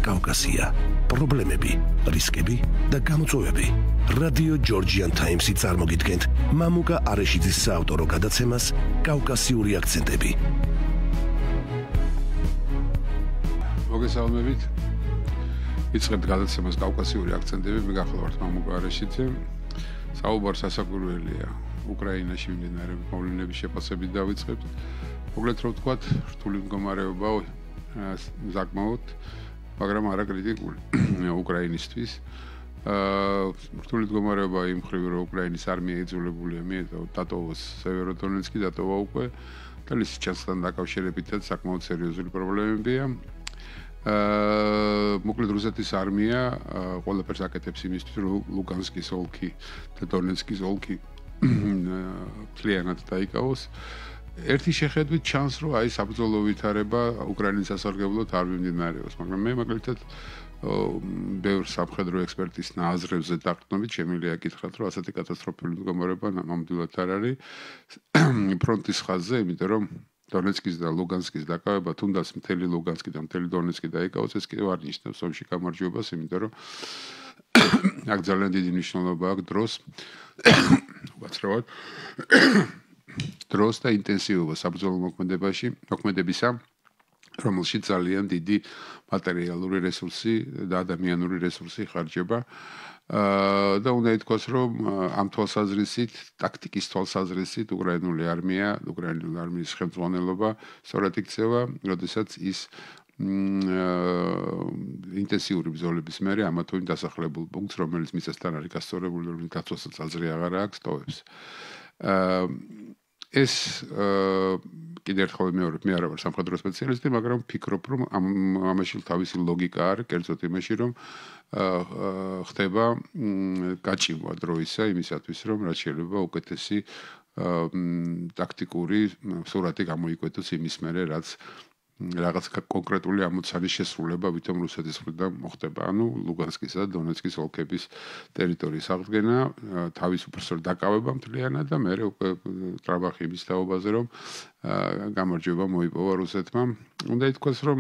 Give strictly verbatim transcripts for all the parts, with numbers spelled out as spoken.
კავკასია, პრობლემები, რისკები და გამოწვევები. რადიო ჯორჯიან ტაიმსი წარმოგიდგენთ მამუკა არეშიძის საავტორო გადაცემას კავკასიური აქცენტები. მოგესალმებით. იწყებთ გადაცემას კავკასიური აქცენტები, მე გახლავართ მამუკა არეშიძე. საუბარს ასაკვირველია უკრაინაში მიმდინარე მოვლენების შეფასებით დავიწყებთ. მოკლედ რომ ვთქვათ, რთული მდგომარეობა საკმაოდ, მაგრამ არა კრიტიკული უკრაინისთვის. რთული მდგომარეობა იმ მხრივ, რომ უკრაინის არმია იძულებულია დატოვოს სევეროდონეცკი, დატოვა უკვე და ლისიჩანსთან დაკავშირებითაც საკმაოდ სერიოზული პრობლემებია. მოკლედ რუსეთის არმია ყველაფერს აკეთებს იმისთვის, რომ ლუგანსკის ოლქი და დონეცკის ოლქი მთლიანად დაიკავოს. ერთი შეხედვით ჩანს, რომ აი საბრძოლო ვითარება უკრაინის სასარგებლოდ არ მიმდინარეობს, მაგრამ მე მაგალითად ბევრ სამხედრო ექსპერტის აზრებზე დაყრდნობით შემიძლია გითხრათ, რომ ასეთი კატასტროფული მდგომარეობა ნამდვილად არ არის ფრონტის ხაზზე, იმიტომ რომ დონეცკის და ლუგანსკის დაკავება, თუნდაც მთელი ლუგანსკი და მთელი დონეცკი დაიკავოს, ეს კიდევ არ ნიშნავს ომში გამარჯვებას, იმიტომ რომ აქ ძალიან დიდი მნიშვნელობა აქვს დროს, უაცრავად დროს და ინტენსივობა საბრძოლო მოქმედებაში, მოქმედებისა, რომელშიც ძალიან დიდი მატერიალური რესურსი და ადამიანური რესურსი ხარჯება. და უნდა ითქვას, რომ ამ თვალსაზრისით, ტაქტიკის თვალსაზრისით უკრაინული არმია, უკრაინული არმიის ხელმძღვანელობა სწორად იქცევა, როდესაც ის ინტენსიური ბრძოლების მერე ამა თუ იმ დასახლებულ პუნქტს, რომელიც მიწასთან არის გასწორებული, რომელიც გაწვასაც აზრი აღარ აქვს, ტოვებს. ეს კიდევ ერთხელ ვიმეორებ, მე არა ვარ სამხედრო სპეციალისტი, მაგრამ ვფიქრობ, რომ ამაში თავისი ლოგიკა არის, კერძოდ იმაში, რომ ხდება გაჭიმვა დროისა იმისათვის, რომ რაც შეიძლება უკეთესი ტაქტიკური სურათი გამოიკვეთოს იმის მერე, რაც რაღაც კონკრეტული ამოცანის შესრულება ვითომ რუსეთის მხრიდან მოხდება. ანუ ლუგანსკისა და დონეცკის ოლქების ტერიტორიის აღდგენა, თავისუფლად დაკავება მთლიანად და მერე უკვე ტრაბახი იმის თაობაზე, რომ გამარჯვება მოიპოვა რუსეთმა. უნდა ითქვას, რომ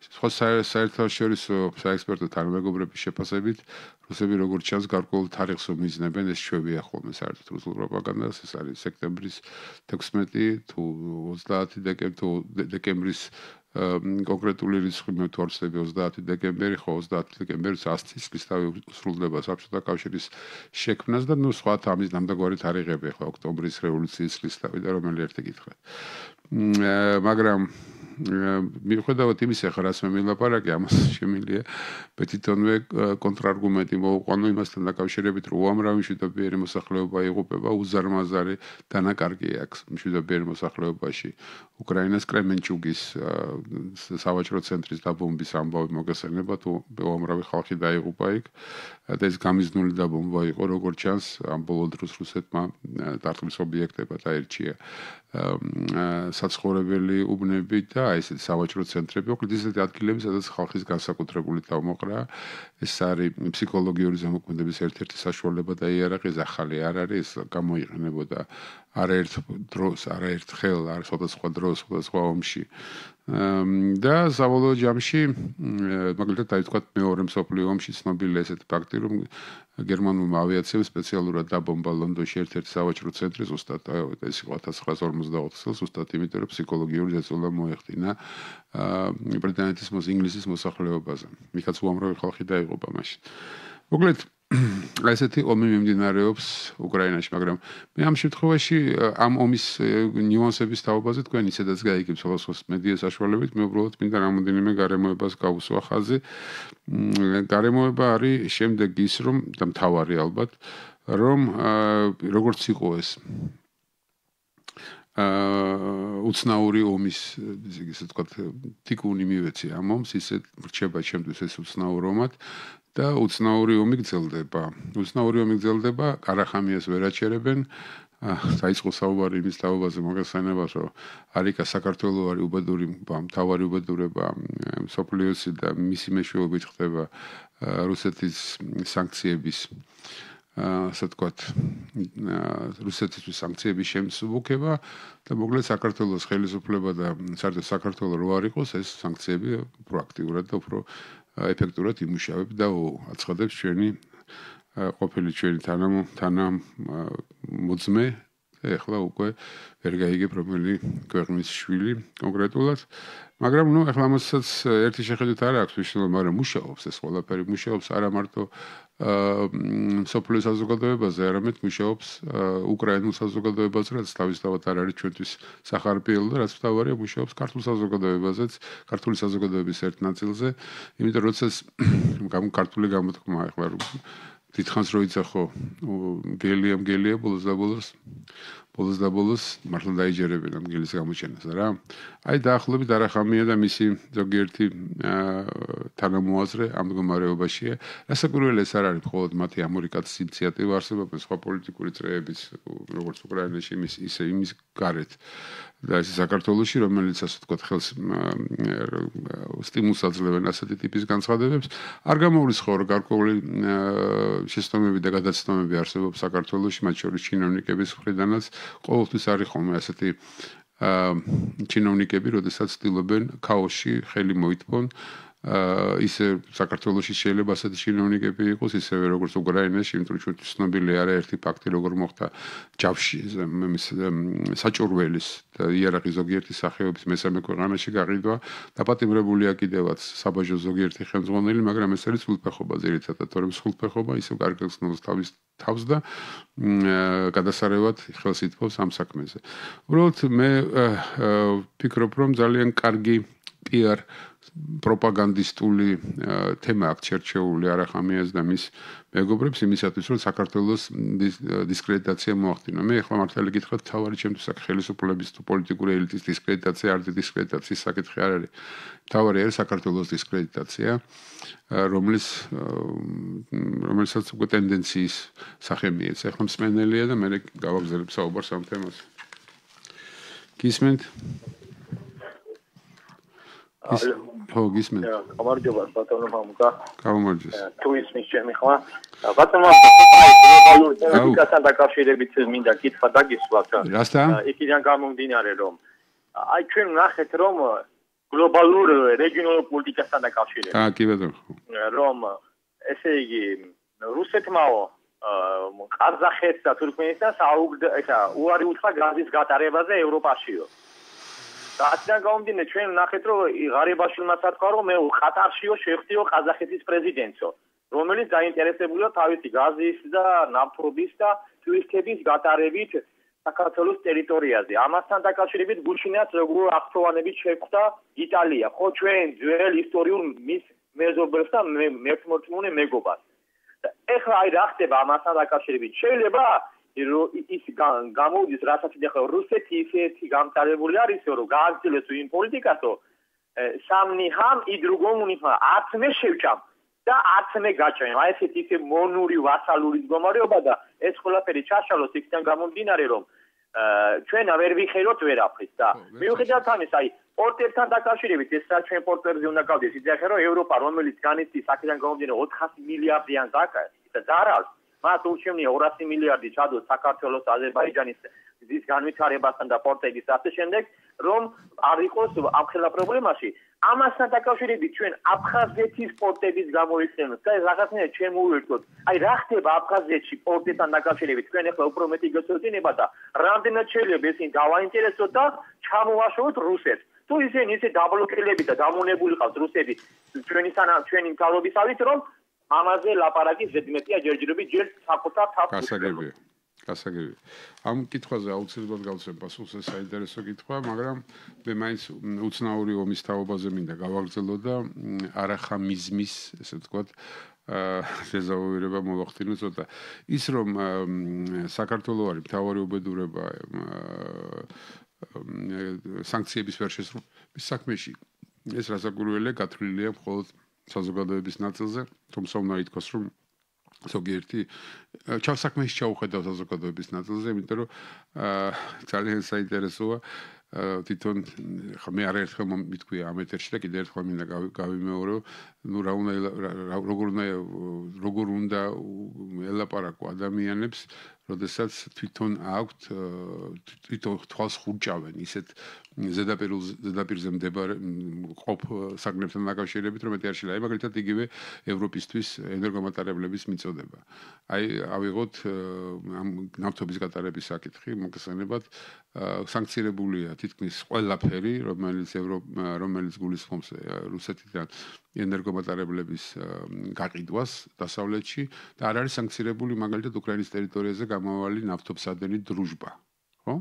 სხვა საერთაშორისო საექსპერტო თანამეგობრების შეფასებით, რუსები როგორც ჩანს გარკვეულ თარიღს მიზნებენ, ეს ჩვევია ხოლმე საერთოდ რუსულ პროპაგანდას, ეს არის სექტემბრის თექვსმეტი თუ ოცდაათი დეკემბრის კონკრეტული რიცხვი მე თუ არ ვცდები ოცდაათი დეკემბერი, ხო ოცდაათი დეკემბერს ასი წლის თავი სრულდება საბჭოთა კავშირის შექმნას და ნუ სხვა ამის ნამდვილი თარიღები ხო ოქტომბრის რევოლუციის წლის თავი და რომელი ერთი გითხრათ. მაგრამ მიუხედავად იმისა, რას მე ვილაპარაკე, ამას შემიძლია თვითონვე კონტრარგუმენტი მოვუყვანო იმასთან დაკავშირებით, რომ უამრავი მშვიდობიანი მოსახლეობა იღუპება, უზარმაზარი დანაკარგი აქვს მშვიდობიანი მოსახლეობაში. უკრაინას კრემენჩუგის სავაჭრო ცენტრის დაბომბვის ამბავი მოგესალმება, თუ უამრავი ხალხი დაიღუპა იქ და ეს გამიზნული დაბომბვა იყო, როგორც ჩანს, ამ ბოლო დროს რუსეთმა დარტყმის ობიექტებად აირჩია საცხოვრებელი უბნები და აი ესეთი სავაჭრო ცენტრები, მოკლედ ისეთი ადგილები, სადაც ხალხის განსაკუთრებული თავმოყრა, ეს არის ფსიქოლოგიური ზემოქმედების ერთ-ერთი საშუალება და იარაღის ახალი არ არის, ეს გამოიყენებოდა არაერთ დროს, არაერთხელ, არ სხვადასხვა დროს, სხვადასხვა ომში. და საბოლოო ჯამში, მაგალითად დაიწყოთ მეორე მსოფლიო ომში ცნობილი ესეთი ფაქტი, რომ გერმანულმა ავიაციამ სპეციალურად დაბომბა ლონდონში ერთ-ერთი სავაჭრო ცენტრი, ზუსტად ეს იყო ათას ცხრაას ორმოცდაოთხ წელს, ზუსტად იმიტომ, რომ ფსიქოლოგიური ზეწოლა მოეხდინა ბრიტანეთის ინგლისის მოსახლეობაზე. მიქაც უამრავი ხალხი დაიღუპა მაშინ. მოკლედ ესეთი ომი მიმდინარეობს უკრაინაში, მაგრამ მე ამ შემთხვევაში ამ ომის ნიუანსების თაობაზე თქვენ ისედაც გაიგებთ სხვადასხვა მედია საშუალებით, მე უბრალოდ მინდა რამოდენიმე გარემოებას გავუსვა ხაზი. გარემოება არის შემდეგ ის, რომ და მთავარი ალბათ, რომ როგორც იყო ეს უცნაური ომის, ისე ვთქვათ, თიკუნი მივეცი ამ ომს, ისე რჩება ჩემთვის ეს უცნაურობად და უცნაური ომი გრძელდება. უცნაური ომი გრძელდება, ყარახამიას ვერ აჩერებენ. დაიწყო საუბარი იმის თაობაზე მოგესალმება, რომ არიკა საქართველოს არის უბედური, მთავარი უბედურება მსოფლიოსი და მისი მეშვეობით ხდება რუსეთის სანქციების ასე ვთქვათ, რუსეთისთვის სანქციების შემსუბუქება და მოკლედ საქართველოს ხელისუფლება და საერთოდ საქართველოს რო არ იყოს ეს სანქციები პროაქტიურად და უფრო ეფექტურად იმუშავებს და აცხადებს ჩვენი ყოფილი ჩვენი თანამოძმე ეხლა უკვე ვერ გაიგებ რომელი ქვეყნის შვილი კონკრეტულად მაგრამ ნუ ეხლა ამასაც ერთი შეხედვით არ აქვს მნიშვნელობა მაგრამ მუშაობს ეს ყველაფერი მუშაობს არა მარტო სოფლის საზოგადოებაზე არამედ მუშაობს უკრაინულ საზოგადოებაზე რაც თავისთავად არ არის ჩვენთვის სახარბიელო და რაც თავარია მუშაობს ქართულ საზოგადოებაზეც ქართული საზოგადოების ერთ ნაწილზე იმიტომ რომ როცა ქართული გამოთქმა ეხლა დიდხანს რო იცახო გელია მგელია ბოლოს და ბოლოს ბოლოს და ბოლოს მართლა დაიჯერებენ ამ გელის გამოჩენას რა აი დაახლოებით არახამია და მისი ზოგიერთი თანამოაზრე ამ მდგომარეობაშია რასაკვირველია ეს არ არის მხოლოდ მათი ამერიკაცის ინიციატივა არსებობს სხვა პოლიტიკური წრეებიც როგორც უკრაინაში იმის ისე იმის გარეთ და ეს საქართველოში რომელიც ასე ვთქვათ ხელს სტიმულს აძლევენ ასეთი ტიპის განცხადებებს არ გამოვლისხო რომ გარკვეული შეცდომები და გადაცდომები არსებობს საქართველოში მათ შორის ჩინოვნიკების მხრიდანაც ყოველთვის არის ხოლმე ასეთი ჩინოვნიკები როდესაც ცდილობენ ქაოსში ხელი მოითმონ ისე საქართველოში შეიძლება ასეთი ჩინოვნიკები იყოს ისევე როგორც უკრაინაში იმიტომ რომ ჩვენთვის ცნობილი არა ერთი ფაქტი როგორ მოხდა ჯავში მის საჭურველის და იარაღის ზოგიერთი სახეობის მესამე ქვეყანაში გაყიდვა დაპატიმრებულია კიდევაც საბაჟო ზოგიერთი ხელმძღვანელი მაგრამ ეს არის სრულფეხობა ძირითადად თორემ სრულფეხობა ისევ კარგად ცნობს თავის თავს და გადასარევად ხელს ითმობს ამ საქმეზე უბრალოდ მე ვფიქრობ რომ ძალიან კარგი პი არ პროპაგანდისტული თემა აქვს შერჩეული არახამიას და მის მეგობრებს იმისათვის რომ საქართველოს დისკრედიტაცია მოახდინა. მე ახლა მართალი გითხრათ თავარი ჩემთვის აქ ხელისუფლების თუ პოლიტიკური ელიტის დისკრედიტაცია არ დისკრედიტაციის საკითხი არ არის. თავარი არის საქართველოს დისკრედიტაცია რომლის რომელსაც უკვე ტენდენციის სახე მიეც. ახლა მსმენელია და მე გავაგზავნებ საუბარს ამ თემაზე. გისმენთ? ხო, გისმენთ. გამარჯობა, ბატონო მამუკა. გამარჯობა. თუ ისმის ჩემი ხმა. ბატონო გლობალური პოლიტიკასთან დაკავშირებით მინდა კითხვა დაგისვათ. რასთან? იქიდან გამომდინარე რომ აი ჩვენ ნახეთ რომ გლობალურ რეგიონულ პოლიტიკასთან დაკავშირებით. აა, კი ბატონო. რომ ესე იგი რუსეთმაო ყაზახეთს და თურქმენეთს ესა უარი უთხრა გაზის გატარებაზე ევროპაშიო. Dația gaundine ჩვენ ნახეთ რომ ღარიბაშვილმა სათქვა რომ მე ყატარშიო შევხვდიო ყაზახეთის პრეზიდენტო რომელიც დაინტერესებულია თავისი გაზის და ნავთობის და ტვირთების გატარებით საქართველოს ტერიტორიაზე ამასთან დაკავშირებით გუშინაც როგორ აღწევანებით შეხვდა იტალია ხო ჩვენ ძველ ისტორიულ მის მეზობელს და მერთმორწმუნე მეგობარს ეხლა აი რა ხდება ამასთან დაკავშირებით შეიძლება ის გამოვიდეს რასაც ეხლა რუსეთი ისეთი გამწარებული არის რომ გააგრძელოს იმ პოლიტიკასო სამნიხამ и другому нихам არც მე შევჭამ და არც მე გაჭამ აი ესეთი ისე მონური ვასალური მდგომარეობა და ეს ყველაფერი ჩაშალოს იქიდან გამომდინარე რომ ჩვენ ვერ ვიხეროთ ვერაფრის და მიუხედავად ამისა აი პორტერთან დაკავშირებით ეს რა ჩვენ პორტერზე უნდა გავდეს იდეა რომ ევროპა რომელიც განიცდის აქედან გამომდინარე ოთხასი მილიარდიან ზარალს მას ურჩევნია ორასი მილიარდი ჩადოს საქართველოს აზერბაიჯანის გზის განვითარებასთან და პორტების ასე შემდეგ რომ არ იყოს ამ ხელა პრობლემაში ამასთან დაკავშირებით ჩვენ აფხაზეთის პორტების გამოიყენოთ და რაღაცნაირად ჩვენ მოვიერთოთ აი რა ხდება აფხაზეთში პორტებთან დაკავშირებით ჩვენ ახლა უფრო მეტი გეცოდინება და რამდენად შეიძლება ისინი დავაინტერესოთ და ჩამოვაშოროთ რუსეთს თუ ისინი ისე დაბლოკირებული და დამონებული ყავს რუსები ჩვენი ჩვენი მთავრობისავით რომ ამაზე ლაპარაკი ზედმეტია ჯერჯერობით ჯერ საკუთარ თავს გასაგებია გასაგებია ამ კითხვაზე აუცილებლად გავცემ პასუხს ეს საინტერესო კითხვა მაგრამ მე მაინც უცნაური ომის თაობაზე მინდა გავაგრძელო და არახამიზმის ესე ვთქვათ ზეზაუირება მოვახდინო ცოტა ის რომ საქართველოს არის მთავარი უბედურება სანქციების ვერ შესრულების საქმეში ეს რასაკვირველია გათვლილია მხოლოდ საზოგადოების ნაწილზე, თუმცა უნდა ითქვას, რომ ზოგიერთი ჩავსაქმეში ჩაუხედავ საზოგადოების ნაწილზე, იმიტომ რომ ძალიან საინტერესოა თვითონ ხა მე არაერთხელ მithქვია ამ ეთერში და კიდევ ერთხელ მინდა გავიმეორო, ну რა უნდა როგორ უნდა როგორ უნდა ელაპარაკო ადამიანებს, როდესაც თვითონ აქვთ თვითონ თვალს ხურჭავენ ისეთ ზედაპირულ ზედაპირზე მდებარე ყოფ საგნებთან დაკავშირებით, რომ მეტი არ შეიძლება. აი მაგალითად იგივე ევროპისთვის ენერგომატარებლების მიწოდება. აი ავიღოთ ამ ნავთობის გატარების საკითხი, მოგხსენებათ, სანქცირებულია თითქმის ყველაფერი, რომელიც ევროპ რომელიც გულისხმობს რუსეთიდან ენერგომატარებლების გაყიდვას დასავლეთში და არ არის სანქცირებული მაგალითად უკრაინის ტერიტორიაზე გამავალი ნავთობსადენი დრუჟბა, ხო?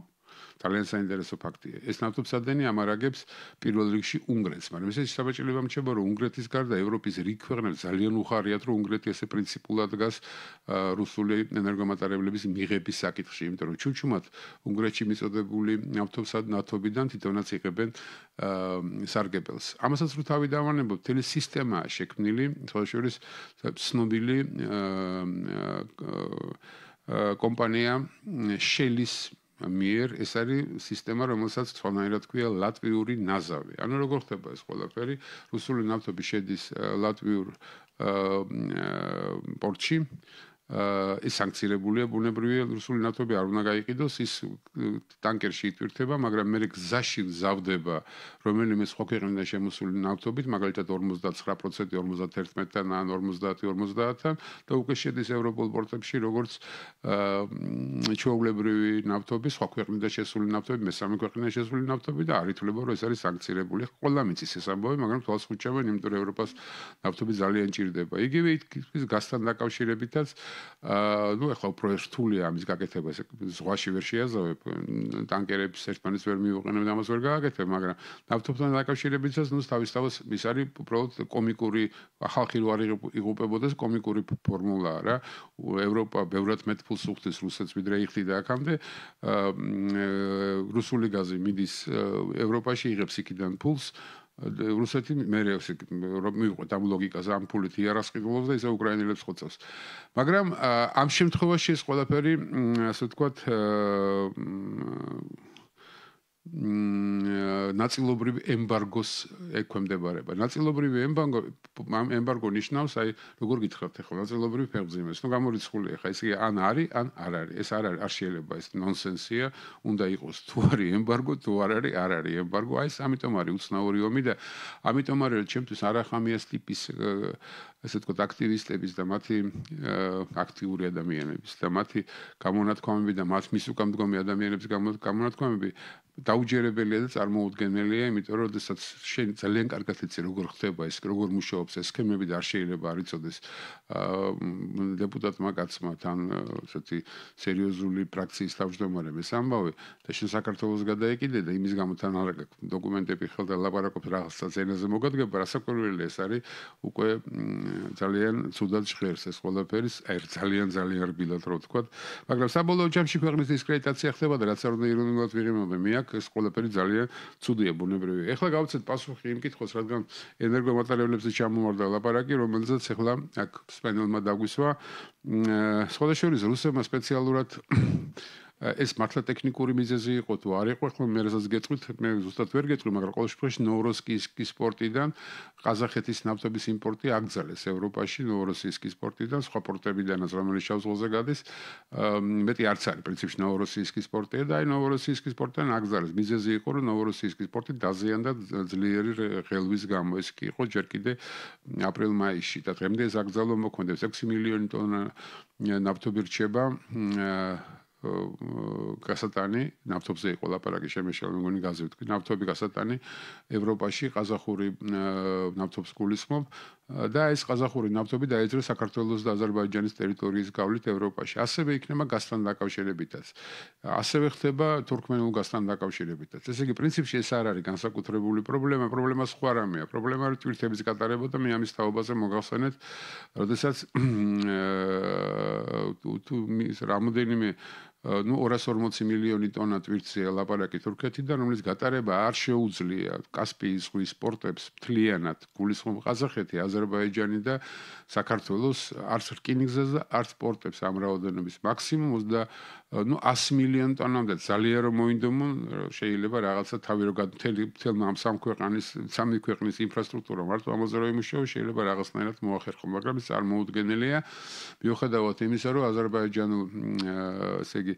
ძალიან საინტერესო ფაქტია. ეს ნავთობსადენი ამარაგებს პირველ რიგში უნგრეთს, მაგრამ ესე საბაჭილება მრჩება, რომ უნგრეთის გარდა ევროპის რიგ ქვეყნებს ძალიან უხარიათ, რომ უნგრეთი ესე პრინციპულად დგას რუსული ენერგომატარებლების მიღების საკითხში, იმიტომ რომ ჩუჩუმად უნგრეთში მიწოდებული ნავთობსად ნავთობიდან თვითონაც იღებენ სარგებელს. ამასაც რო თავი დავანებოთ, მთელი სისტემაა შექმნილი, თვალშორის ცნობილი კომპანია შელის მიერ ეს არის სისტემა, რომელსაც სხვანაირად ქვია ლატვიური ნაზავი. ანუ როგორ ხდება ეს ყველაფერი? რუსული ნავთობი შედის ლატვიურ პორტში. ეს სანქცირებულია ბუნებრივია რუსული ნავთობი არ უნდა გაიყიდოს, ის ტანკერში იტვირთება, მაგრამ მე გზაში გზავდება რომელიმე სხვა ქვეყნიდან შემოსული ნავთობით, მაგალითად ორმოცდათცხრა პროცენტი ორმოცდაათი-თან ან ორმოცდაათი-ორმოცდაათთან და უკვე შედის ევროპულ პორტებში, როგორც ჩვეულებრივი ნავთობი, სხვა ქვეყნიდან შესული ნავთობი, მესამე ქვეყნიდან შესული ნავთობი და არ ითვლება, რომ ეს არის სანქცირებული. ყველა მიცის ეს ამბავი, მაგრამ თვალს ხუჭავენ, იმიტომ რომ ევროპას ნავთობი ძალიან ჭირდება. იგივე ის გაზთან დაკავშირებითაც აა ნუ ახლა უფრო რთულია ამის გაკეთება, ეს ზღვაში ვერ შეაზავებ, ტანკერებს ერთმანეთს ვერ მიუყენებ და ამას ვერ გააკეთებ, მაგრამ ნავთობთან დაკავშირებითაც ნუ თავისთავად ის არის უბრალოდ კომიკური ხალხი რო არ იღუპებოდეს კომიკური ფორმულაა რა. ევროპა ბევრად მეტ ფულს უხდის რუსეთს ვიდრე იხდიდა აქამდე. რუსული გაზი მიდის ევროპაში, იღებს იქიდან ფულს. რუსეთი მე რომ მივყვეთ ამ ლოგიკაზე ამ ფულით იარაღს ყიდულობს და ისე უკრაინელებს ხოცავს. მაგრამ ამ შემთხვევაში ეს ყველაფერი ასე ვთქვათ ნაწილობრივ ემბარგოს ექვემდებარება. ნაწილობრივი ემბარგო ემბარგო ნიშნავს, აი როგორ გითხრათ ახლა ნაწილობრივ ფეხმძიმეს. ნუ გამორიცხულია ხა, ესე იგი ან არის, ან არ არის. ეს არ არის, არ შეიძლება, ეს ნონსენსია, უნდა იყოს თუ არის ემბარგო, თუ არ არის, არ არის ემბარგო. აი ეს ამიტომ არის უცნაური ომი და ამიტომ არის რომ ჩემთვის არახამიას ტიპის ასე ვთქვათ აქტივისტების და მათი აქტიური ადამიანების და მათი გამონათქვამები და მათ მისუკამდგომი ადამიანების გამონათქვამები დაუჯერებელია და წარმოუდგენელია, იმიტომ რომ შესაძ შენ ძალიან კარგად იცი როგორ ხდება ეს, როგორ მუშაობს ეს სქემები და არ შეიძლება არ იცოდეს დეპუტატმა კაცმა თან ესეთი სერიოზული პრაქციის თავმჯდომარემ ეს ამბავი და შენ საქართველოს გადაეკიდე და იმის გამო თან არ გაქვს დოკუმენტები ხელდა ლაპარაკობ რაღაცა ენაზე მოგადგება, რასაკვირველია ეს არის უკვე ძალიან ცუდად ჟღერს ეს ყველაფერი, აი ძალიან ძალიან რბილად რო ვთქვათ, მაგრამ საბოლოო ჯამში ქვეყნის დისკრედიტაცია ხდება და რაც არ უნდა ირონიულად ვიღებავ მე აქ ეს ყველაფერი ძალიან ცუდია ბუნებრივია. ეხლა გავცეთ პასუხი იმ კითხვას, რადგან ენერგომატარებლებზე ჩამოვარდა ლაპარაკი, რომელზეც ეხლა აქ სპენელმა დაგვისვა. სხვადასხვა შორის რუსებმა სპეციალურად ეს მართლა ტექნიკური მიზეზი იყო თუ არ იყო, ხო მე რასაც გეტყვით, მე ზუსტად ვერ გეტყვი, მაგრამ ყოველ შემთხვევაში ნოვოროსიისკის პორტიდან ყაზახეთის ნავთობის იმპორტი აკრძალეს ევროპაში, ნოვოროსიისკის პორტიდან, სხვა პორტებიდანაც, რომელიც შავ ზღვაზე გადის, მეტი არც არის პრინციპში ნოვოროსიისკის პორტია და აი ნოვოროსიისკის პორტიდან აკრძალეს. მიზეზი იყო, რომ ნოვოროსიისკის პორტი დაზიანდა ძლიერი ღელვის გამო, ეს კი იყო ჯერ კიდე აპრილ-მაისში და დღემდე ეს აკრძალვა მოქმედებს. ექვსი მილიონი ტონა ნავთობი რჩება გასატანი ნავთობზე იყო ლაპარაკი შემეშალა მეგონი გაზი ვთქვი ნავთობი გასატანი ევროპაში ყაზახური ნავთობს გულისხმობ და ეს ყაზახური ნავთობი დაეძრა საქართველოს და აზერბაიჯანის ტერიტორიის გავლით ევროპაში ასევე იქნება გაზთან დაკავშირებითაც ასევე ხდება თურქმენულ გაზთან დაკავშირებითაც ესე იგი პრინციპში ეს არ არის განსაკუთრებული პრობლემა პრობლემა სხვა რამეა პრობლემა არის თვირთების გატარება და მე ამის თაობაზე მოგახსენეთ როდესაც თუ მის რამოდენიმე ну ორას ორმოცი მილიონი ტონა ტვირთზე ლაპარაკი თურქეთიდან რომელიც გატარება არ შეუძლია კასპიის ზღვის პორტებს მთლიანად გულისხმობ ყაზახეთი აზერბაიჯანი და საქართველოს არც რკინიგზას და არც პორტებს ამ რაოდენობის მაქსიმუმ ну one hundred მილიონი ტონამდე ძალიან რომ მოინდომონ შეიძლება რაღაცა თავი რო მთელი მთელმა ამ სამ ქვეყნის სამი ქვეყნის ინფრასტრუქტურა მარტო ამაზე რო იმუშაოს შეიძლება რაღაცნაირად მოახერხო მაგრამ ეს წარმოუდგენელია მიუხედავად იმისა რომ აზერბაიჯანულ ესე იგი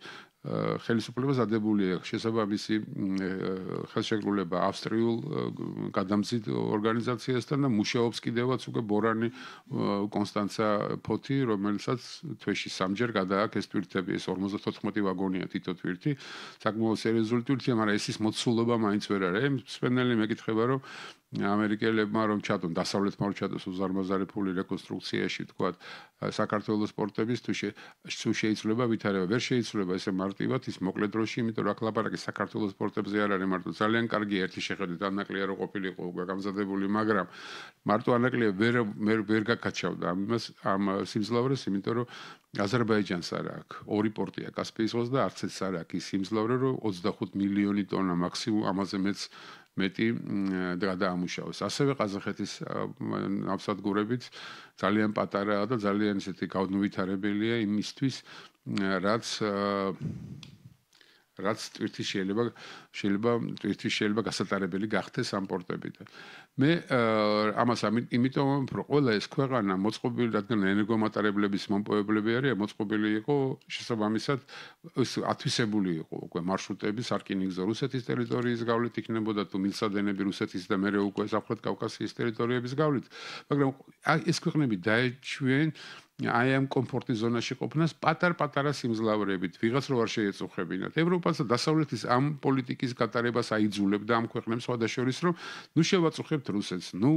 ხელისუფლებას ადებულია შესაბამისი ხელშეკრულება ავსტრიულ გადამზიდ ორგანიზაციასთან და მუშაობს კიდევაც უკვე ბორანი კონსტანცა ფოთი რომელსაც თვეში სამჯერ გადააქვს ეს თვირთები ეს ორმოცდათოთხმეტი ვაგონია თითო თვირთი საკმაოდ სერიოზული თვირთია მაგრამ ეს ის მოცულობა მაინც ვერ არის მსმენელი მეკითხება რომ ამერიკელებმა რომ ჩადონ დასავლეთმა რომ ჩადოს უზარმაზარი ფული რეკონსტრუქციაში თქვათ საქართველოს პორტების თუ შეიძლება ვითარება ვერ შეიძლება ესე მარტივად ის მოკლე დროში იმიტომ რომ აქ ლაპარაკი საქართველოს პორტებზე არ არის მარტო ძალიან კარგი ერთი შეხედვით ანაკლია რო ყოფილიყო უკვე გამზადებული მაგრამ მარტო ანაკლია ვერ ვერ გაკაჩავდა ამას ამ სიმძლავრეს იმიტომ რომ აზერბაიჯანს არ აქვს ორი პორტია კასპიის ზღვას და არც ეს არ აქვს ის სიმძლავრე რომ ოცდახუთ მილიონი ტონა მაქსიმუმ ამაზე მეც მეტი გადაამუშავოს. ასევე ყაზახეთის ნავსადგურებით ძალიან პატარაა და ძალიან ისეთი გაუნვითარებელია იმისთვის, რაც რაც თვირთი შეიძლება შეიძლება თვირთი შეიძლება გასატარებელი გახდეს ამ პორტებიდან. მე ამას იმიტომ რომ ყველა ეს ქვეყანა მოწყობილი რადგან ენერგომატარებლების მომპოვებლები არის მოწყობილი იყო შესაბამისად ათვისებული იყო უკვე მარშრუტები სარკინიგზო რუსეთის ტერიტორიის გავლით იქნებოდა თუ მილსადენები რუსეთის და მეორე უკვე სამხრეთ კავკასიის ტერიტორიების გავლით მაგრამ ეს ქვეყნები დაეჩვენ აი ამ კომფორტის ზონაში ყოფნას პატარ-პატარა სიმძლავრებით ვიღაც რო არ შეეწუხებინათ. ევროპას და დასავლეთის ამ პოლიტიკის გატარებას აიძულებდა ამ ქვეყნებს სხვადასხვის რომ ნუ შევაწუხებთ რუსეთს, ნუ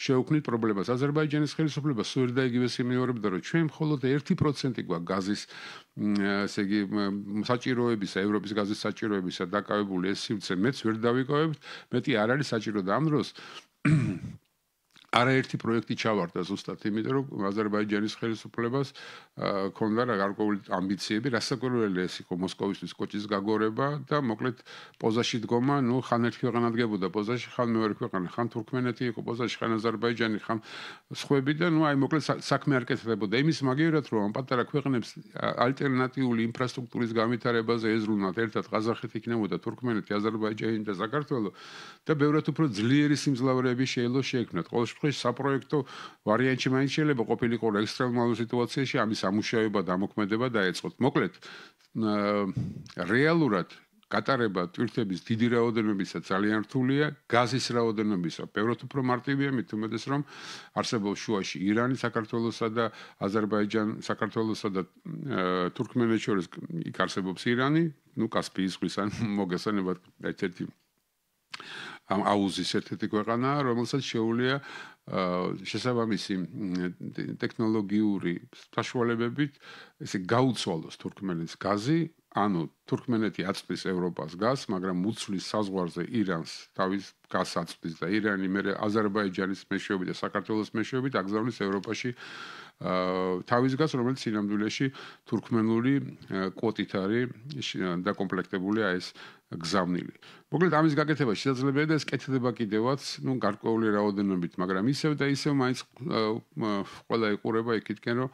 შევქმნით პრობლემას. აზერბაიჯანის ხელისუფლება სულ და იგივეს იმეორებდა რომ ჩვენ მხოლოდ ერთი პროცენტი გვაქვს გაზის ესე იგი საჭიროებისა, ევროპის გაზის საჭიროებისა დაკავებული ეს სივრცე მეც ვერ დავიკავებთ, მეტი არ არის საჭირო და ამ დროს არაერთი პროექტი ჩავარდა ზუსტად იმიტომ რომ აზერბაიჯანის ხელისუფლებას ქონდა გარკვეული ამბიციები რასაკვირველია ეს იყო მოსკოვისთვის კოჭის გაგორება და მოკლედ პოზაში დგომა ნუ ხან ერთ ქვეყანა დგებოდა პოზაში ხან მეორე ქვეყანა ხან თურქმენეთი იყო პოზაში ხან აზერბაიჯანი ხან სხვები და ნუ აი მოკლედ საქმე არ კეთდებოდა იმის მაგივრად რომ ამ პატარა ქვეყნებს ალტერნატიული ინფრასტრუქტურის განვითარებაზე ეზრუნათ ერთად ყაზახეთი იქნებოდა თურქმენეთი აზერბაიჯანი და საქართველო და ბევრად უფრო ძლიერი სიმძლავრეები შეიძლება შეექმნათ ყოველ შემთხვევაში საპროექტო ვარიანტი მაინც შეიძლება ყოფილიყო ექსტრემალურ სიტუაციაში ამის ამუშავება და ამოქმედება დაეწყოთ. მოკლედ რეალურად გატარება თვირთების დიდი რაოდენობისა ძალიან რთულია, გაზის რაოდენობისა ბევრად უფრო მარტივია, მით უმეტეს რომ არსებობს შუაში ირანი, საქართველოსა და აზერბაიჯანი, საქართველოსა და თურქმენეთს შორის იქ არსებობს ირანი, ნუ კასპიის ზღვის ან მოგესალმებათ ერთ-ერთი ამ აუზის ერთ-ერთი ქვეყანა, რომელსაც შეუძლია შესაბამისი ტექნოლოგიური საშუალებებით ესე გაუცვალოს თურქმენეთის გაზი, ანუ თურქმენეთი აწვდის ევროპას გაზს, მაგრამ უცვლის საზღვარზე ირანს თავის გაზს აწვდის და ირანი მე აზერბაიჯანის მეშვეობით და საქართველოს მეშვეობით აგზავნის ევროპაში თავის გაზს, რომელიც სინამდვილეში თურქმენული კვოტით არის დაკომპლექტებული აი ეს გზავნილი. მოკლედ ამის გაკეთება შესაძლებელია და ეს კეთდება კიდევაც, ну, გარკვეული რაოდენობით, მაგრამ ისევ და ისევ მაინც ყველა იყურება იქითკენ, რომ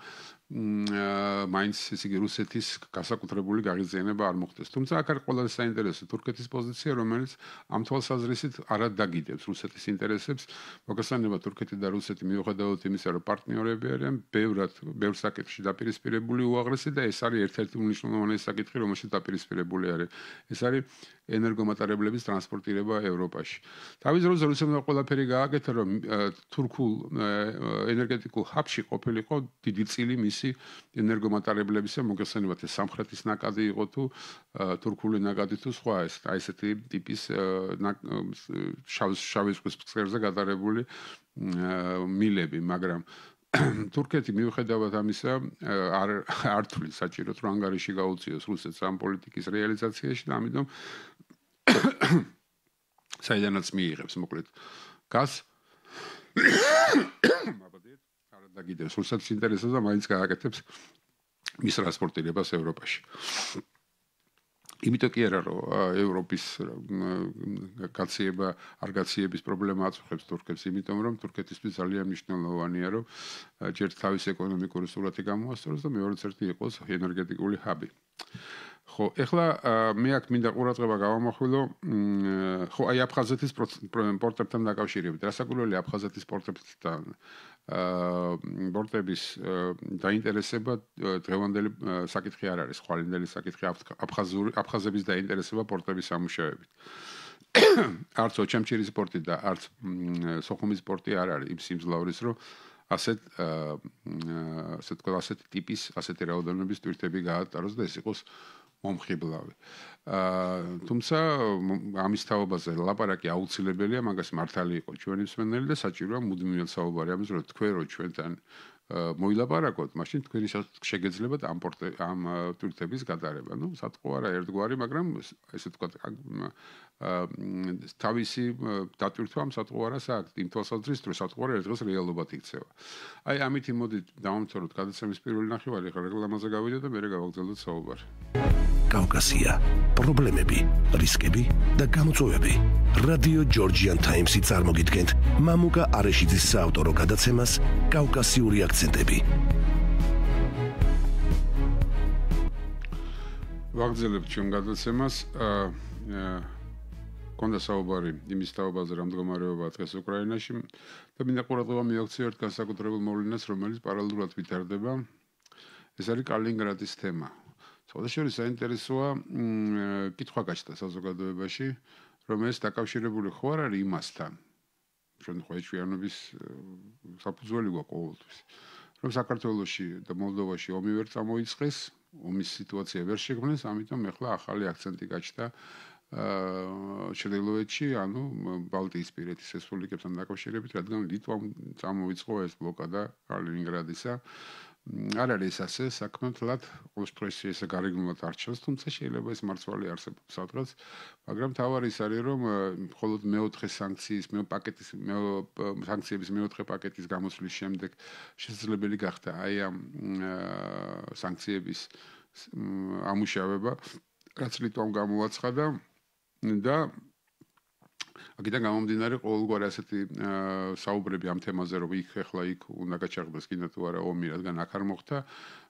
მაინც ესე იგი რუსეთის გასაკუთრებული გაღიზიანება არ მოხდეს. თუმცა აქ არის ყველაზე საინტერესო თურქეთის პოზიცია, რომელიც ამ თვალსაზრისით არ დაგიდებს რუსეთის ინტერესებს. მოგესალმება თურქეთი და რუსეთი მიუხედავად იმისა, რომ პარტნიორები არიან, ბევრად, ბევრ საკითხში დაპირისპირებული უაღრესი და ეს არის ერთ-ერთი უმნიშვნელოვანესი საკითხი, რომელშიც დაპირისპირებული არის. ეს არის ენერგომატარებლების ტრანსპორტირება ევროპაში. თავის დროზე რუსეთმა ყველაფერი გააკეთა, რომ თურქულ ენერგეტიკულ ჰაბში ყოფილიყო დიდი წილი მისი ენერგომატარებლებისა, მოგესალმებათ ეს სამხრეთის ნაკადი იყო თუ თურქული ნაკადი თუ სხვა ეს აი ესეთი ტიპის შავი ზღვის ფსკერზე გადარებული მილები, მაგრამ თურქეთი მიუხედავად ამისა არ არ თulis საჭიროდ რომ ანგარიში გაუწიოს რუსეთს ამ პოლიტიკის რეალიზაციაში და ამიტომ საიდანაც მიიღებს მოკლედ გაზ მაბადეთ არ დაგიდებს რუსეთის ინტერესებს და მაინც გააკეთებს მის ტრანსპორტირებას ევროპაში. იმიტომ კი არა რომ ევროპის გაციება არ გაციების პრობლემა აწუხებს თურქებს, იმიტომ რომ თურქეთისთვის ძალიან მნიშვნელოვანია რომ ჯერ თავის ეკონომიკური სურათი გამოასწოროს და მეორეც ერთი იყოს ენერგეტიკული ჰაბი. ხო, ეხლა მე აქ მინდა ყურადღება გავამახვილო, ხო, აი აფხაზეთის პორტებთან დაკავშირებით. რასაკვირველია აფხაზეთის პორტებთან პორტების დაინტერესება დღევანდელი საკითხი არ არის, ხვალინდელი საკითხი აფხაზური აფხაზების დაინტერესება პორტების სამუშაოებით. არც ოჩამჩირის პორტი და არც სოხუმის პორტი არ არის იმ სიმძლავრის, რომ ასეთ ასე თქვა ასეთი ტიპის, ასეთი რაოდენობის ტვირთები გაატაროს და ეს იყოს მომხიბლავი. თუმცა ამის თაობაზე ლაპარაკი აუცილებელია, მაგას მართალი იყო ჩვენი მსმენელი და საჭიროა მუდმივად საუბარი ამის, რომ თქვენ რო ჩვენთან მოილაპარაკოთ, მაშინ თქვენი შეგეძლებათ ამ ამ ტვირთების გატარება. ნუ სათხოვა არა ერთგვარი, მაგრამ ესე თქვა თავისი დატვირთვა ამ სათხოვარას აქვს, იმ თვალსაზრისით, რომ სათხოვარა ერთ დღეს რეალობად იქცევა. აი ამით იმოდით დავამთავროთ გადაცემის პირველი ნახევარი, ხა რეკლამაზე გავიდეთ და მერე გავაგრძელოთ საუბარი. კავკასია, პრობლემები, რისკები და გამოწვევები. რადიო ჯორჯიან ტაიმსი წარმოგიდგენთ მამუკა არეშიძის საავტორო გადაცემას კავკასიური აქცენტები. ვაგრძელებთ ჩვენ გადაცემას. კონდა საუბარი იმის თაობაზე, რა მდგომარეობაა დღეს უკრაინაში და მინდა ყურადღება მივაქციო ერთ განსაკუთრებულ მოვლენას, რომელიც პარალელურად ვითარდება. ეს არის კალინინგრადის თემა. სხვადასხვა საინტერესოა კითხვა გაჩნდა საზოგადოებაში, რომ ეს დაკავშირებული ხო არ არის იმასთან, ჩვენ ხო ეჭვიანობის საფუძველი გვაქვს ყოველთვის, რომ საქართველოში და მოლდოვაში ომი ვერ წამოიწყეს, ომის სიტუაცია ვერ შექმნეს, ამიტომ ეხლა ახალი აქცენტი გაჩნდა ჩრდილოეთში, ანუ ბალტიისპირეთის რესპუბლიკებთან დაკავშირებით, რადგან ლიტვამ წამოიწყო ეს ბლოკადა კალინინგრადისა. არ არის ასე საქმე მთლად ყოველთვის ესე გარეგნულად არჩევს, თუმცა შეიძლება ეს მარცვალი არსებობს სადღაც, მაგრამ თავარი ის არის, რომ მხოლოდ მეოთხე სანქციის, მე პაკეტის სანქციების მეოთხე პაკეტის გამოსვლის შემდეგ შესაძლებელი გახდა აი ამ სანქციების ამუშავება, რაც ლიტვამ გამოაცხადა და აქედან გამომდინარე ყოველგვარი ასეთი საუბრები ამ თემაზე, რომ იქ ახლა იქ უნდა გაჩაღდეს კიდე თუ არა ომი, რადგან აქ არ მოხდა,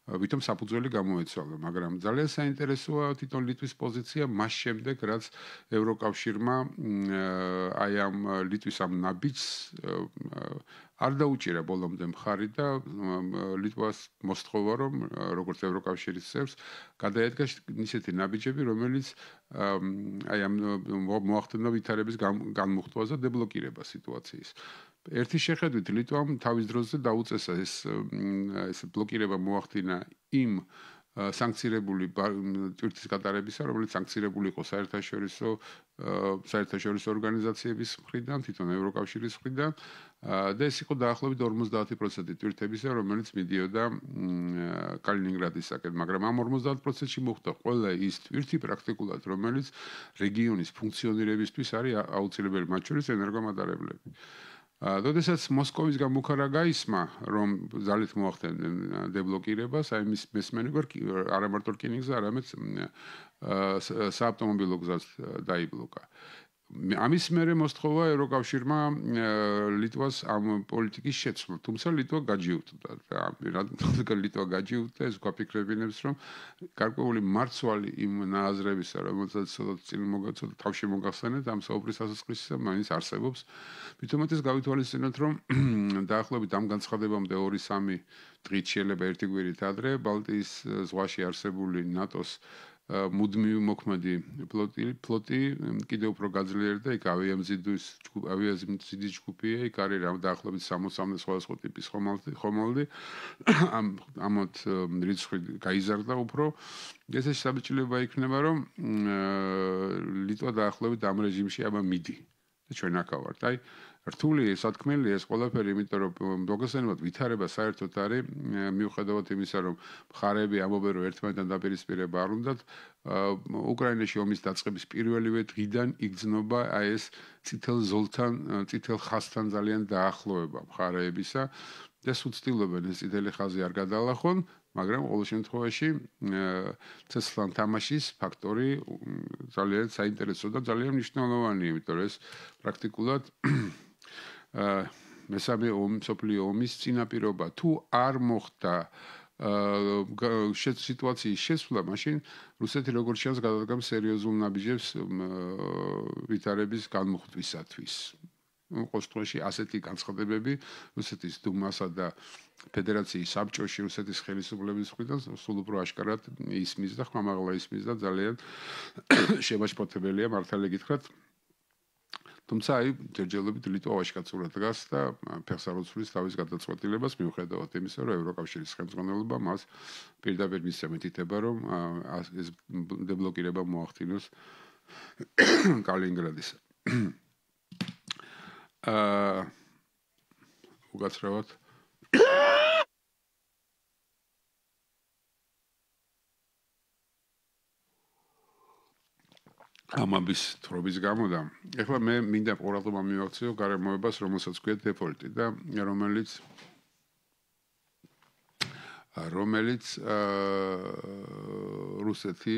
ვითომ საფუძველი გამოეცვალა, მაგრამ ძალიან საინტერესოა თვითონ ლიტვის პოზიცია მას შემდეგ, რაც ევროკავშირმა აი ამ ლიტვის ამ ნაბიჯს არ დაუჭირა ბოლომდე მხარი და ლიტვას მოსთხოვა, რომ როგორც ევროკავშირის წევრს გადაედგა ისეთი ნაბიჯები, რომელიც აი ამ მოახდინა ვითარების განმუხტვას და დებლოკირება სიტუაციის. ერთი შეხედვით ლიტვამ თავის დროზე დაუწესა ეს ეს ბლოკირება მოახდინა იმ სანქცირებული ტვირთის გატარებისა, რომელიც სანქცირებული იყო საერთაშორისო საერთაშორისო ორგანიზაციების მხრიდან, თვითონ ევროკავშირის მხრიდან და ეს იყო დაახლოებით ორმოცდაათი პროცენტი ტვირთებისა, რომელიც მიდიოდა კალინინგრადისაკენ, მაგრამ ამ ორმოცდაათ პროცენტში მოხდა ყველა ის ტვირთი პრაქტიკულად, რომელიც რეგიონის ფუნქციონირებისთვის არის აუცილებელი, მათ შორის ენერგომატარებლები. როდესაც მოსკოვის გამუქარა გაისმა, რომ ძალით მოახდენენ დებლოკირებას, აი მის მესმენი არა მარტო რკინიგზა, არამედ საავტომობილო გზაც დაიბლოკა. ამის მერე მოსთხოვა ევროკავშირმა ლიტვას ამ პოლიტიკის შეცვლა, თუმცა ლიტვა გაჯიუტდა. რადგან ლიტვა გაჯიუტდა, ეს გვაფიქრებინებს, რომ გარკვეული მარცვალი იმ ნააზრებისა, რომელსაც წინ მოგაცოდა თავში მოგახსენეთ ამ საუბრის დასაწყისისა, მაინც არსებობს. მithumetes გავითვალისწინოთ, რომ დაახლოებით ამ განცხადებამდე ორი სამი დღით შეიძლება ერთი კვირით ადრე ბალტიის ზღვაში არსებული ნატოს მუდმივი მოქმედი ფლოტი ფლოტი კიდევ უფრო გაძლიერდა, იქ ავიამზიდის ავიამზიდის ჯგუფია, იქ არის დაახლოებით სამოცამდე სხვადასხვა ტიპის ხომალდი, ხომალდი ამ ამოთ რიცხვი გაიზარდა უფრო. ეს შესაბამისად იქნება, რომ ლიტვა დაახლოებით ამ რეჟიმში აბა მიდი და ჩვენ აქ ვართ. აი რთული სათქმელი ეს ყველაფერი, იმიტომ რომ მოგესალმებით ვითარება საერთოდ არის, მიუხედავად იმისა, რომ მხარეები ამობენ, რომ ერთმანეთთან დაპირისპირება არ უნდათ, უკრაინაში ომის დაწყების პირველივე დღიდან იგრძნობა აი ეს წითელ ზოლთან, წითელ ხაზთან ძალიან დაახლოება მხარეებისა და სუცდილობენ ეს წითელი ხაზი არ გადალახონ, მაგრამ ყოველ შემთხვევაში ცეცხლთან თამაშის ფაქტორი ძალიან საინტერესო და ძალიან მნიშვნელოვანია, იმიტომ რომ ეს პრაქტიკულად მესამე მსოფლიო ომის წინაპირობა თუ არ მოხდა სიტუაციის შესვლა, მაშინ რუსეთი როგორც ჩანს გადადგამს სერიოზულ ნაბიჯებს ვითარების განმუხტვისათვის. ყოველ შემთხვევაში ასეთი განცხადებები რუსეთის დუმასა და ფედერაციის საბჭოში რუსეთის ხელისუფლების მხრიდან სულ უფრო აშკარად ისმის და ხმამაღლა ისმის და ძალიან შემაშფოთებელია მართალი გითხრათ. თუმცა აი ჯერჯერობით ლიტვაში კაცურად დგას და ფეხს არ უცვლის თავის გადაწყვეტილებას მიუხედავად იმისა, რომ ევროკავშირის ხელმძღვანელობა მას პირდაპირ მისცემ ეთითება, რომ ეს დებლოკირება მოახდინოს კალინინგრადის. აა უგაცრავად ამაბის თრობის გამო და ეხლა მე მინდა ყურადღება მივაქციო გარემოებას, რომელსაც ქვია დეფოლტი და რომელიც რომელიც რუსეთი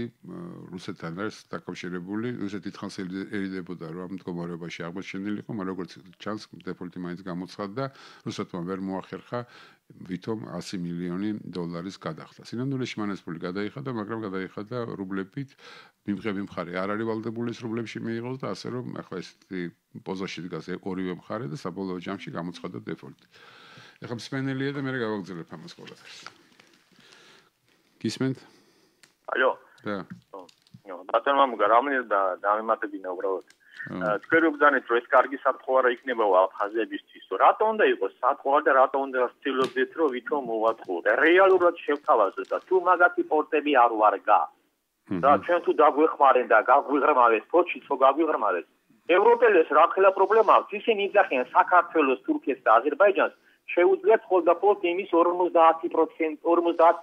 რუსეთთან არის დაკავშირებული, რუსეთი თხანს ერიდებოდა, რომ ამ მდგომარეობაში აღმოჩენილიყო, მაგრამ როგორც ჩანს, დეფოლტი მაინც გამოცხადდა, რუსეთმა ვერ მოახერხა ვითომ ასი მილიონი დოლარის გადახდა. სინამდვილეში მან ეს ფული გადაიხადა, მაგრამ გადაიხადა რუბლებით, მიმღები მხარე არ არის ვალდებული ეს რუბლებში მიიღოს და ასე რომ ახლა ესეთი პოზაში დგას ორივე მხარე და საბოლოო ჯამში გამოცხადდა დეფოლტი. ეხლა მსმენელია და მე გავაგზავნებ ამას ყველაფერს. გისმენთ? ალო. და. ნო, ბატონო მამუკა, რამე და დამემატებინა უბრალოდ. თქვენ ვგზავნეთ, რომ ეს კარგი საფრთხე არ იქნება აფხაზებისთვის. რატო უნდა იყოს საფრთხე და რატო უნდა ვცდილობდეთ, რომ ვითომ მოვაწყოთ? რეალურად შევთავაზოთ და თუ მაგათი პორტები არ ვარგა. და ჩვენ თუ დაგვეხმარენ და გაგვიღრმავეს, ფოჩიც ხო გაგვიღრმავეს. ევროპელებს რა ხელა პრობლემა აქვს? ისინი იძახიან საქართველოს, თურქეთს და აზერბაიჯანს შეუძლიათ მხოლოდ იმის ორმოცდაათი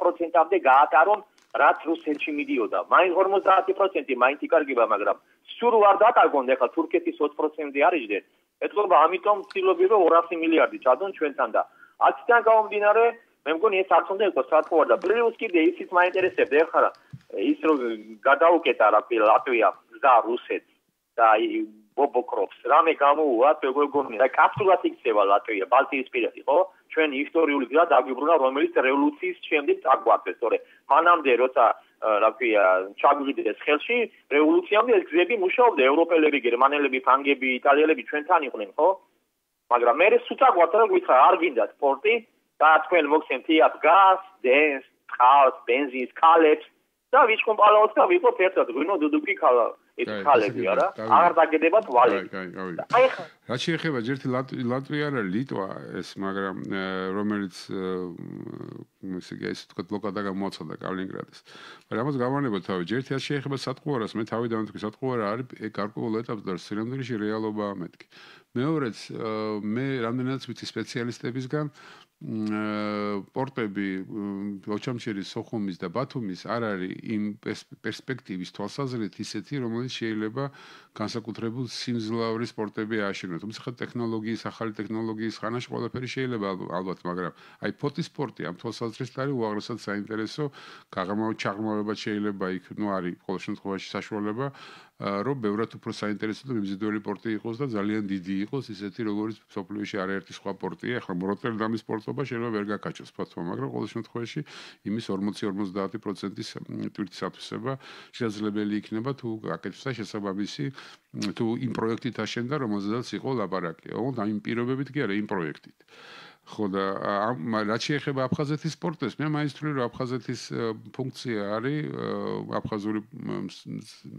პროცენტამდე გაატარონ, რაც რუსეთში მიდიოდა. მაინც ორმოცდაათი პროცენტი მაინც იკარგება, მაგრამ სულ არ დაკარგონ, ახლა თურქეთის ოცი პროცენტი არიჯდეთ. ეთქობა, ამიტომ ვცდილობდი, რომ ორასი მილიარდი ჩადონ ჩვენთან და აქედან გამომდინარე, მე მგონი ეს არც უნდა იყოს საფრთხე და პლუს კიდე ისიც მაინტერესებდა, ეხლა ის რომ გადაუკეტა რა ქვია ლატვია და რუსეთი და ბობოკროფს რამე გამოუვათ მეგონი და კაფსულად იქცევა ლატვია ბალტიისპირეთი ხო ჩვენ ისტორიული გზა დაგვიბრუნა რომელიც რევოლუციის შემდეგ წაგვართეს თორე მანამდე როცა რა ქვია ჩაგვიდდეს ხელში რევოლუციამდე ეს გზები მუშაობდა ევროპელები გერმანელები ფრანგები იტალიელები ჩვენთან იყვნენ ხო მაგრამ მე ეს უწაგვართ რა გითხრა არ გინდა სპორტი და თქვენ მოგცემთ იაფ გაზ დენს წყალს ბენზინს ქალებს და ვიჩქომპალაოს და ვიყო ერთად გვინო დუდუკი ქალა ეს ქალები არა აღარ დაგედებათ ვალები აი ხა რაც შეეხება ერთი ლატვია არა ლიტვა ეს მაგრამ რომელიც ესე იგი ეს თქვა ბლოკადა გამოაცხადა კალინინგრადის მაგრამ ამას გავანებოთ თავი ერთი რაც შეეხება სატყუარას მე თავიდან ვთქვი სატყუარა არის გარკვეულ ეტაპზე და სინამდვილეში რეალობაა მეთქი მეორეც მე რამდენადაც ვიცი სპეციალისტებისგან პორტები ოჩამჩირის სოხუმის და ბათუმის არ არის იმ პერსპექტივის თვალსაზრისით ისეთი რომელიც შეიძლება განსაკუთრებულ სიმძლავრის პორტები ააშენოს თუმცა ხა ტექნოლოგიის ახალი ტექნოლოგიის ხანაში ყველაფერი შეიძლება ალბათ მაგრამ აი ფოტის სპორტი ამ თვალსაზრისით არის უაღრესად საინტერესო გაღრმავ ჩაღრმავება შეიძლება იქ ნუ არის ყოველ შემთხვევაში საშუალება რომ ბევრად უფრო საინტერესო და მიმზიდველი პორტი იყოს და ძალიან დიდი იყოს ისეთი როგორც სოფლიოში არაერთი სხვა პორტია ახლა როტერდამის პორტობა შეიძლება ვერ გაკაჩოს ფათო მაგრამ ყოველ შემთხვევაში იმის ორმოცი ორმოცდაათი პროცენტის ტვირთის ათვისება შესაძლებელი იქნება თუ გაკეთდა შესაბამისი თუ იმ პროექტით აშენდა რომელზედაც იყო ლაპარაკი ოღონდ ამ პირობებით კი არა იმ პროექტით ხო და რაც შეეხება აფხაზეთის სპორტს მე მაინც ვთვლი რომ აფხაზეთის ფუნქცია არის აფხაზური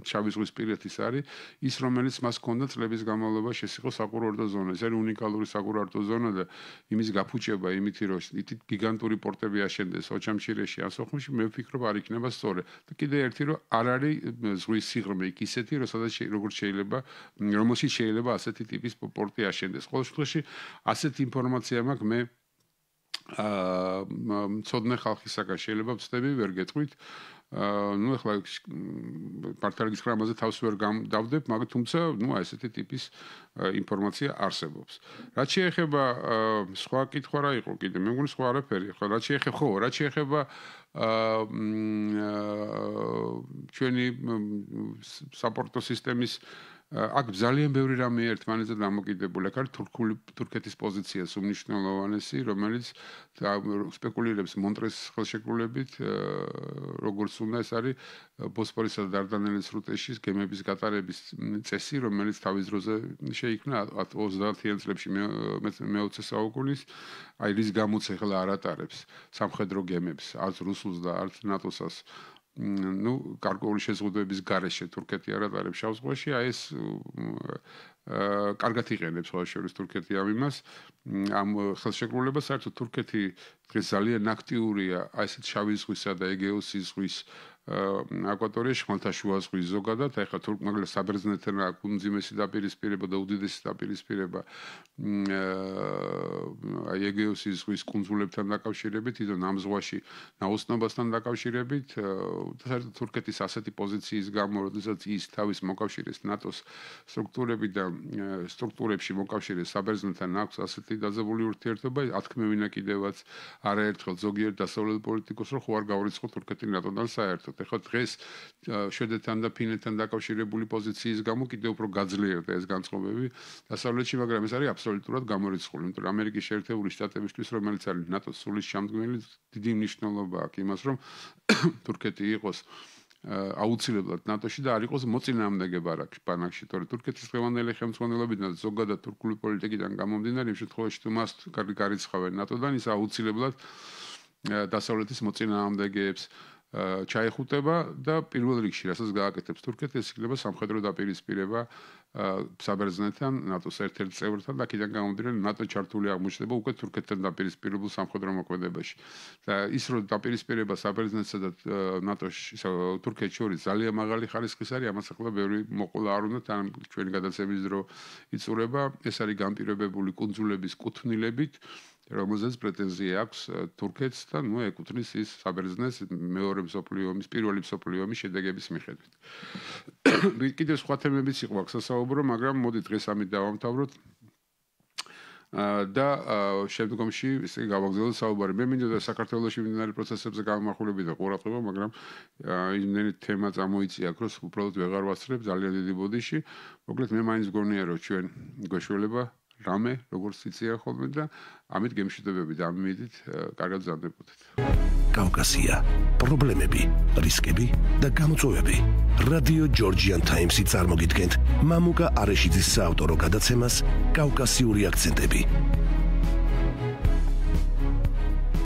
შავი ზღვის პირეთის არის ის რომელიც მას ჰქონდა წლების განმავლობაში ეს იყო საკურორტო ზონა ეს არის უნიკალური საკურორტო ზონა და იმის გაფუჭება იმითი რომ გიგანტური პორტები აშენდეს ოჩამჩირეში ან სოხუმში მე ვფიქრობ არ იქნება სწორი და კიდე ერთი რომ არ არის ზღვის სიღრმე იქ ისეთი რომ სადაც როგორც შეიძლება რომელშიც შეიძლება ასეთი ტიპის პორტი აშენდეს ყოველ შემთხვევაში ასეთი ინფორმაცია მაქვს მე აა მწოდნე ხალხისაგან შეიძლება ვწდები ვერ გეტყვით ну ეხლა პარტალიკის ხრამაზე თავს ვერ დავდებ, მაგრამ თუმცა ну ესეთი ტიპის ინფორმაცია არსებობს. რაც შეეხება სხვა კითხვა რა იყო კიდე, მე მგონი სხვა არაფერი. ხო, რაც შეეხება, ხო, რაც შეეხება ჩვენი საპორტო სისტემის აქ ძალიან ბევრი რამე ერთმანეთზე დამოკიდებული. აქ არის თურქული თურქეთის პოზიციას უმნიშვნელოვანესი, რომელიც სპეკულირებს მონტრეს ხელშეკრულებით, როგორც უნდა ეს არის ბოსფორისა და დარდანელის სრუტეში გემების გატარების წესი, რომელიც თავის დროზე შეიქმნა ოცდაათიან წლებში მეოცე საუკუნის, აი რის გამოც ახლა არ ატარებს სამხედრო გემებს, არც რუსულს და არც ნატოსას. ну, გარკვეული შეზღუდვების გარეშე თურქეთი არ ატარებს შავ ზღვაში, აი ეს კარგად იყენებს სხვა შორის თურქეთი ამ იმას, ამ ხელშეკრულებას, საერთოდ თურქეთი დღეს ძალიან აქტიურია აი ესეთ შავი ზღვისა და ეგეოსის ზღვის აკვატორიაში, ხმელთაშუა ზღვის ზოგადად, აი ხა თურქ მაგალითად საბერძნეთთან აქვს უმძიმესი დაპირისპირება და უდიდესი დაპირისპირება აი ეგეოსის ზღვის კუნძულებთან დაკავშირებით, თვითონ ამ ზღვაში ნაოსნობასთან დაკავშირებით, საერთოდ თურქეთის ასეთი პოზიციის გამო, როდესაც ის თავის მოკავშირეს ნატოს სტრუქტურები და სტრუქტურებში მოკავშირეს საბერძნეთთან აქვს ასეთი დაძაბული ურთიერთობა, ათქმევინა კიდევაც არაერთხელ ზოგიერთ დასავლელ პოლიტიკოსს, რომ ხო არ გავრიცხო თურქეთი ნატოდან საერთოდ. ეხლა დღეს შვედეთთან და ფინეთთან დაკავშირებული პოზიციის გამო კიდევ უფრო გაძლიერდა ეს განწყობები დასავლეთში, მაგრამ ეს არის აბსოლუტურად გამორიცხული, იმიტომ რომ ამერიკის შეერთებული შტატებისთვის, რომელიც არის ნატოს სულის ჩამდგმელი, დიდი მნიშვნელობა აქვს იმას, რომ თურქეთი იყოს აუცილებლად ნატოში და არ იყოს მოწინააღმდეგე ბანაკში, თორე თურქეთის დღევანდელი ხელმძღვანელობიდან ზოგადად თურქული პოლიტიკიდან გამომდინარე, იმ შემთხვევაში თუ მას კარგი გარიცხავენ ნატოდან, ის აუცილებლად დასავლეთის მოწინააღმდეგეებს ჩაეხუტება და პირველ რიგში, რასაც გააკეთებს თურქეთი, ეს იქნება სამხედრო დაპირისპირება საბერძნეთთან, ნატოს ერთ-ერთ წევრთან და აქედან გამომდინარე ნატო ჩართული აღმოჩნდება უკვე თურქეთთან დაპირისპირებულ სამხედრო მოქმედებაში. და ის რომ დაპირისპირება საბერძნეთსა და ნატოში, თურქეთს შორის ძალიან მაღალი ხარისხის არის, ამას ახლა ბევრი მოყოლა არ უნდა, თან ჩვენი გადაცემის დრო იწურება, ეს არის განპირობებული კუნძულების კუთვნილებით, რომელზეც პრეტენზია აქვს თურქეთს და ნუ ეკუთვნის ის საბერძნეთს მეორე მსოფლიო ომის, პირველი მსოფლიო ომის შედეგების მიხედვით. კიდევ სხვა თემებიც იყო აქ სასაუბრო, მაგრამ მოდი დღეს ამით დავამთავროთ. და შემდგომში ისე გავაგზავნოთ საუბარი. მე მინდოდა საქართველოში მიმდინარე პროცესებზე გამახვილები და ყურადღება, მაგრამ იმდენი თემა წამოიწია აქ, რომ უბრალოდ ვეღარ ვასწრებ ძალიან დიდი ბოდიში. მოკლედ მე მაინც გონია, რომ ჩვენ გვეშველება რამე, როგორც იციან ხოლმე და ამით გემშვიდობებით და ამით კარგად ზარდებოდეთ. კავკასია, პრობლემები, რისკები და გამოწვევები. რადიო ჯორჯიან ტაიმსი წარმოგიდგენთ მამუკა არეშიძის საავტორო გადაცემას კავკასიური აქცენტები.